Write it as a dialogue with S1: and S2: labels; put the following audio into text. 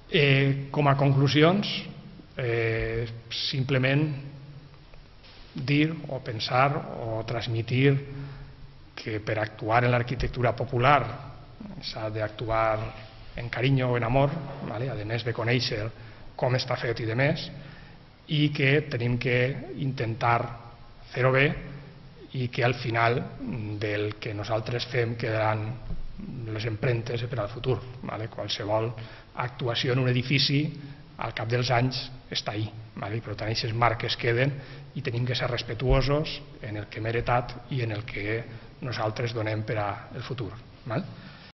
S1: Com a conclusions, simplement dir o pensar o transmitir que per actuar en l'arquitectura popular s'ha d'actuar en carinyo o en amor, a més de conèixer com està fet i de més, i que tenim que intentar fer-ho bé i que al final del que nosaltres fem quedaran les empremtes per al futur. Qualsevol actuació en un edifici al cap dels anys està ahí, i per tant aquestes marques queden i tenim que ser respetuosos en el que hem heretat i en el que nosaltres donem per al futur.